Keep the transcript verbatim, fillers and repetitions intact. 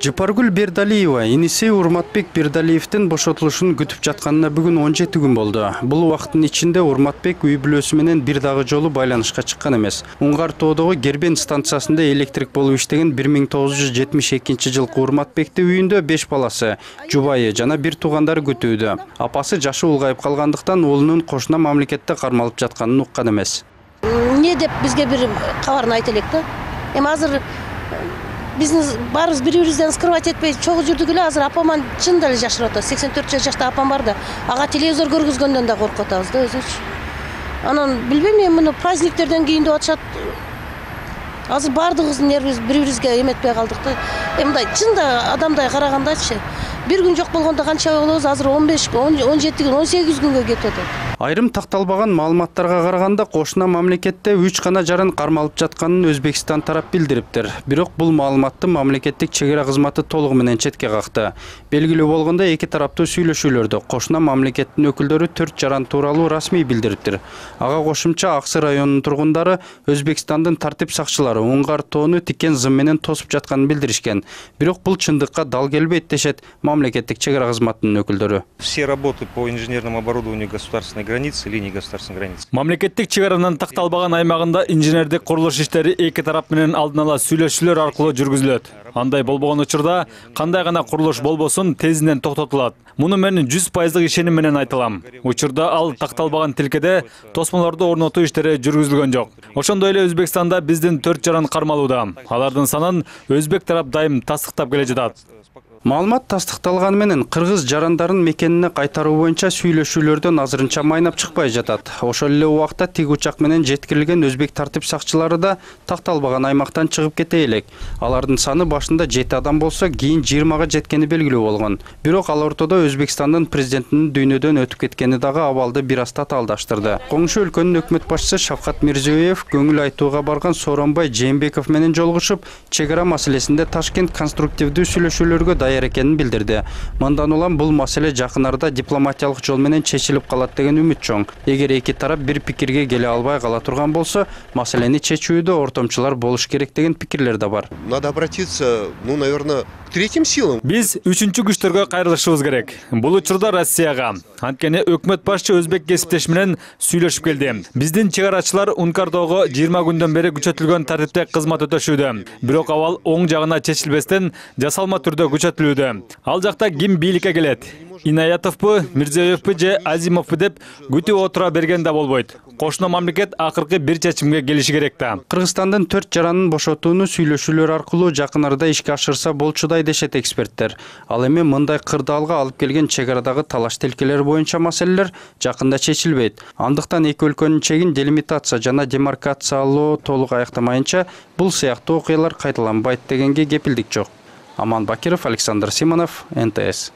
Жыпаргүл Бердалиева иниси Урматбек Бердалиевдин бошотулушун күтүп жатканына бүгүн он жети күн болду. Бул убакыттын ичинде Урматбек үй бүлөсү менен бир дагы жолу байланышка чыккан эмес. Уңгар тоодогу Гербен станциясында электрик болуп иштеген бир миң тогуз жүз жетимиш экинчи жылкы Урматбекти үйүндө беш баласы, жубайы жана бир туугандары күтүүдө. Апасы жашы улгайып калгандыктан уулунун кошуна мамлекетте кармалып жатканын уккан эмес. Не деп бизге бир кабарын айта элек да. Эми азыр биздин баарыбыз бири-бирибизден скрывать этпей чогуу жүрдүк эле. Азыр апаман чын деле жашырып атат. сексен төрт жашта апам бар да. Ага телевизор көргүзгөндөн да коркуп атабыз да өзүбүз. Анан билбейм, эми муну праздниктерден кийин деп атышат. Азыр баардыгыбыздын нервибиз бири-бирибизге эметпей калдык да. Эми мындай чында адамдай карагандачы. Бир күн жок болгондо канча болобуз? Азыр он беш, он жети күн, он сегиз күнгө кетип атат. Айрым такталбаган маалыматтарга караганда кошуна мамлекетте үч гана жарын кармалып жатканын Өзбекстан тарап билдириптир. Бирок бул маалыматты мамлекеттик чегара кызматы толугу менен четке какты. Белгилүү болгондо эки тараптуу сүйлөшүүлөрдө кошуна мамлекеттин өкүлдөрү төрт жаран тууралуу расмий билдириптир. Ага кошумча Аксы районунун тургундары Өзбекстандын тартип сакчылары Уңгар тоону тикен зым менен тосуп жатканын билдиришкен. Бирок бул чындыкка дал келбейт дешет мамлекеттик чегара кызматынын өкүлдөрү. Все работы по инженерному оборудованию государственной границы, линии государственной границы. Мамлекеттик чегаранын такталбаган аймагында инженердик курулуш иштери эки тарап менен алдын ала сүйлөшүүлөр аркылуу жүргүзүлөт. Андай болбогон учурда кандай гана курулуш болбосун тезинен токтотулат. Муну мен жүз пайыздык ишеним менен айтылам. Учурда ал такталбаган тилкеде тосмолорду орнотуу иштери жүргүзүлгөн жок. Ошондой эле Өзбекстанда биздин төрт жаран кармалууда. Алардын санын өзбек тарап дайым тастыктап келе жатат. Маалымат тастыкталганы менен кыргыз жарандарын мекенине кайтаруу боюнча сүйлөшүүлөрдөн азырынча майнап чыкпай жатат. Ошол эле убакта тиг учак менен жеткирилген өзбек тартип сакчылары да такталбаган аймактан чыгып кете элек. Алардын саны башында жети адам болсо, кийин жыйырмага жеткени белгилүү болгон. Бирок ал ортодо Өзбекстандын президентинин дүйнөдөн өтүп кеткени дагы абалды бир аз татаалдаштырды. Коңшу өлкөнүн өкмөт башчысы Шавкат Мирзиёев көңүл айтууга барган Сооронбай Жээнбеков менен жолугушуп, чегара маселесинде Ташкент конструктивдүү сүйлөшүүлөргө даяр экенин билдирди. Мындан улам бул маселе жакын арада дипломатиялык жол менен чечилип калат деген үмүт чоң. Эгер эки тарап бир пикирге келе албай кала турган болсо, маселени чечүүдө ортомчулар болуш керек деген пикирлер да бар. Надо обратиться, ну, наверное, к третьим силам. Биз үчүнчү күчтөргө кайрылышыбыз керек. Бул учурда Россияга. Анткени өкмөт башчы өзбек кесиптеш менен сүйлөшүп келди. Биздин чегарачылар Ункардоого жыйырма күндөн бери күчөтүлгөн тартипте кызмат өтөшүүдө. Бирок абал оң жагына чечилбестен жасалма түрдө күчөтүлүүдө. Ал жакта ким бийликке келет? Инаятовпу, Мирзиёевпу же Азимовпу деп күтүп отура берген да болбойт. Кошуна мамлекет акыркы бир чечимге келиши керек да. Кыргызстандын төрт жаранын бошотууну сүйлөшүүлөр аркылуу жакын арада ишке ашырса болчудай дешет эксперттер. Ал эми мындай кырдаалга алып келген чегарадагы талаш тилкелер боюнча маселелер жакында чечилбейт. Андыктан эки өлкөнүн чегин делимитация жана демаркациялоо толук аяктамайынча бул сыяктуу окуялар кайталанбайт дегенге кепилдик жок. Аман Бакиров, Александр Симонов, эн тэ эс.